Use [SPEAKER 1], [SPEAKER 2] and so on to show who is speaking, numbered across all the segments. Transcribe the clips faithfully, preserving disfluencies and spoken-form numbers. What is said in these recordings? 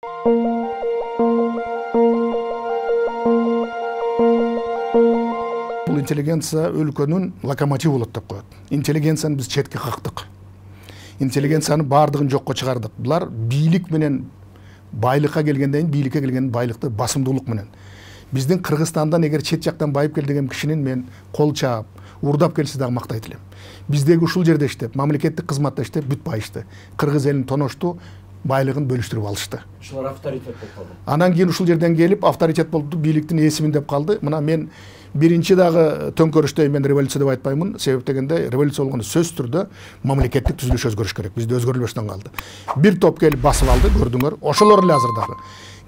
[SPEAKER 1] Бул интеллигенция өлкөнүн локомотиві болот деп коет. Интеллигенцияны биз четке кактык. Интеллигенцияны баардыгын жокко чыгардык. Булар бийлик менен байлыкка келгенден кийин бийликке келген байлыкты басымдуулук менен. Биздин Кыргызстандан эгер чет жактан байып келди деген кишинин мен кол чаап, урдап келсе дагы мактайт элем. Биздеги ушул жерде иштеп, мамлекеттик кызматта иштеп бүт байышты. Кыргыз элин тоношту, байлыгын бөлүштүрүп алышты.
[SPEAKER 2] Ушулар авторитет болуп калды.
[SPEAKER 1] Анан кийин ушул жерден келип авторитет болду, бийликтин ээсимин деп калды. Мына мен биринчи дагы төңкөрүштө мен революция деп айтпаймын. Себеп дегенде революция болгондо сөзсүз түрдө мамлекеттик түзүлүш өзгөрүш керек. Бизде өзгөрүлбөстөн калды. Бир топ келип басып алды, көрдүңөр. Ошолор эле азыр дагы.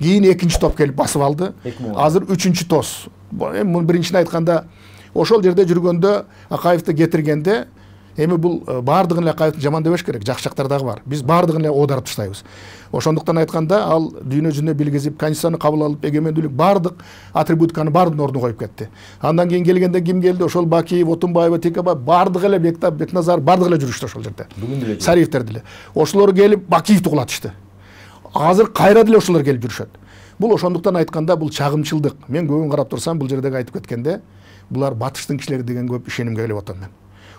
[SPEAKER 1] Кийин экинчи топ келип басып алды. Азыр үчүнчү тос. Эми биринчини айтканда ошол жерде жүргөндө Акаевди кетиргенде эми бул баардыгын эле Акаевди жаман дебеш керек, жакшы жактары дагы бар. Биз баардыгын эле оодарып таштайбыз. Ошондуктан айтканда ал дүйнө жүзүнө билгизип, конституцияны кабыл алып, эгемендүүлүк баардык атрибутиканы баардыгын ордуна коюп кетти. Андан кийин келгенде ким келди? Ошол Бакиев, Отунбаева, Текебаев баардыгы эле Бектап, Бекназар баардыгы эле жүрүштү ошол жерде. Сариевдер деле. Ошолор келип Бакиевди кулатышты. Азыр кайра деле ошолор келип жүрүшөт. Бул ошондуктан айтканда бул чагымчылдык. Мен көбүн карап турсам, бул жердеги айтып кеткенде, булар батыштын кишилери деген көп ишенимге келип атам мен.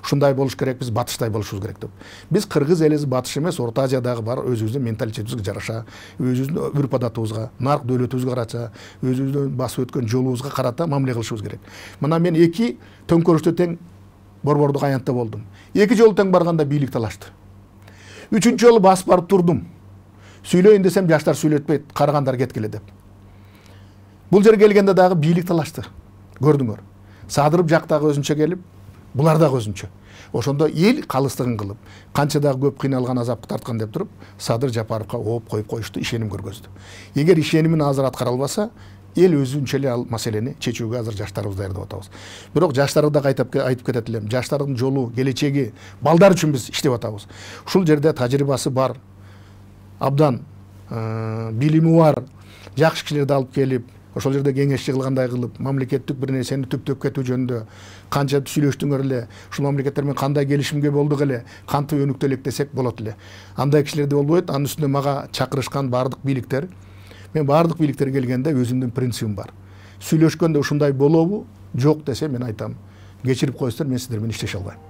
[SPEAKER 1] Ушундай болуш керек, биз батыштай болушубуз керек деп. Биз кыргыз элиз батыш эмес, Орто Азиядагы бар өзүбүздүн менталитетибизге жараша, өзүбүздүн үрп адатыбызга, нарк дөөлөтүбүзгө карата, өзүбүздүн басып өткөн жолубузга карата мамиле кылышыбыз керек. Мына мен эки төңкөрүштө тең борбордук аянтта болдум. Эки жолу тең барганда бийлик талашты. Үчүнчү жолу басып барып турдум. Сүйлөйүн десем жаштар сүйлөтпөйт, карагандар кеткиле деп. Бул жерге келгенде дагы бийлик талашты. Көрдүңөр. Садырып жактагы өзүнчө келип, булар дагы өзүнчө. Ошондо эл калыстыгын кылып, канча дагы көп кыйналган, азапты тарткан деп туруп, Садыр Жапаровго ооп коюп коюшту, ишеним көргөздү. Эгер ишенимин азыр аткара албаса, эл өзүнчө эле ал маселени чечүүгө азыр жаштарыбыз даярдап атабыз. Бирок жаштарды дагы айтып айтып кетет элем. Жаштардын жолу, келечеги, балдар үчүн биз иштеп атабыз. Ушул жерде тажрыйбасы бар, абдан билими бар, жакшы кишилерди алып келип, ошол жерде кеңешчи кылгандай кылып, мамлекеттик бир нерсени түптөп кетүү жөнүндө канча сүйлөштүңөр эле, ушул мамлекеттер менен кандай келишимге болдук эле, кантип өнүктү элек десек болот эле. Андай кишилерди болбойт. Анын үстүнө мага чакырышкан баардык бийликтер, мен баардык бийликтер келгенде өзүмдүн принцибим бар. Сүйлөшкөндө ушундай болобу, жок десе мен айтам, кечирип коесуздар, мен сиздер менен иштеше албайм.